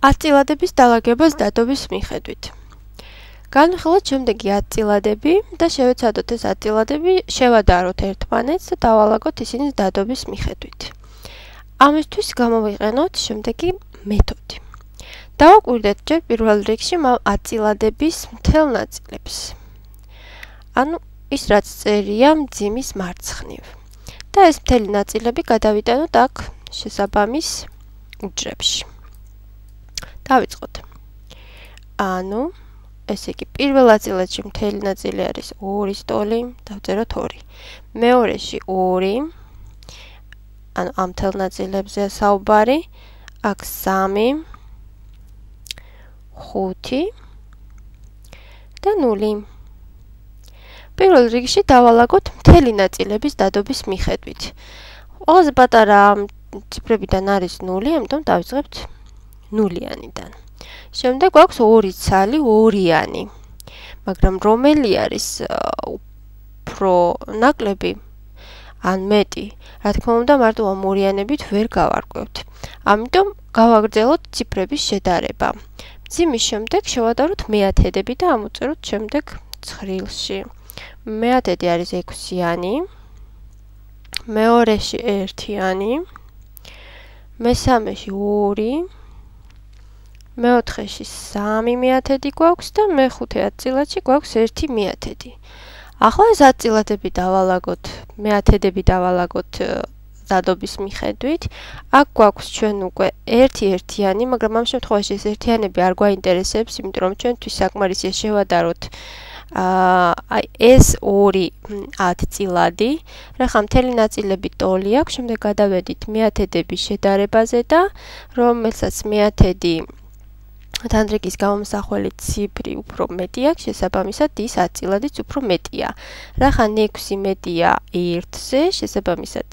აწილადების დალაგებას დადობის მიხედვით. განვიხილოთ შემდეგი აწილადები და შევეცადოთ ეს აწილადები, შევადაროთ ერთმანეთს და დავალაგოთ ისინი დადობის მიხედვით. ამისთვის გამოვიყენოთ შემდეგი მეთოდი. დავაკვირდეთ ჯერ პირველ რიგში აწილადების მთელ ნაწილებს. ანუ ის რაც წერია მძიმის მარცხნივ. და ეს მთელი ნაწილები გადავიტანოთ აქ შესაბამის უჯრებში. დავიწყოთ. ანუ ესე იგი პირველ აწილადში მთელი ნაწილი არის 2 სტოლი, დავწეროთ 2. მეორეში 2. ანუ ამ მთელ ნაწილებზეა საუბარი. აქ 3, 5 და 0. პირველ რიგში დავალაგოთ მთელი ნაწილების დადობის მიხედვით. ყველაზე პატარა ციფრებიდან არის 0, ამიტომ დავიწყებთ 0-იანიდან. შემდეგ გვაქვს 2 ცალი 2-იანი. მაგრამ რომელი არის უფრო ნაკლები ან მეტი, რა თქმა უნდა, მარტო ამ 2-იანებით ვერ გავარკვევთ. ამიტომ გავაგრძელოთ ციფრების შედარება. მძიმის შემდეგ შევადაროთ მეათედები და ამოწეროთ შემდეგ ცხრილში. მეათედი არის 6-იანი, მეორეში 1-იანი, მესამეში 2, მეოთხეში 3 მეათედი გვაქვს და მეხუთე აწილადში გვაქვს 1 მეათედი. ახლა ეს აწილადები დავალაგოთ, მეათედები დავალაგოთ დადობის მიხედვით. აქ გვაქვს ჩვენ უკვე 1-1-იანი, მაგრამ ამ შემთხვევაში ეს ერთიანები არ გვაინტერესებს, იმიტომ რომ ჩვენთვის საკმარისია შევადაროთ ეს 2 10-წილადი. რახან მთელი ნაწილები ტოლი აქვს, შემდეგ გადავედით მეათედების შედარებაზე და რომელსაც მეათედი დანრიგის გამომსახველი ციფრი უფრო მეტი აქვს, შესაბამისად ის აწილადიც უფრო მეტია. რახან 6 მეტია 1-ზე, შესაბამისად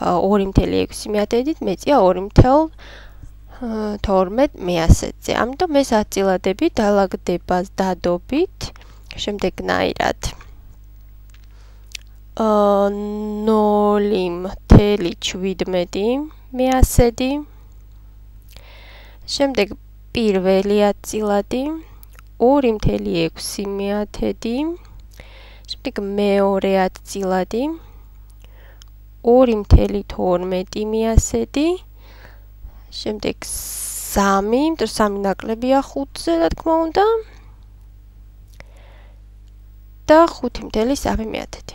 2.6 მეათედით მეტია 2.12 მეასედზე. ამიტომ ეს აწილადები დალაგდება დადობით შემდეგნაირად. 0.17 მეასედი. შემდეგ პირველი აწილადი 2.6 მეათედი. შემდეგ მეორე აწილადი 2.12 მეასედი. შემდეგ 3, 3 ნაკლებია 5-ზე, რა თქმა უნდა. და 5.3 მეათედი.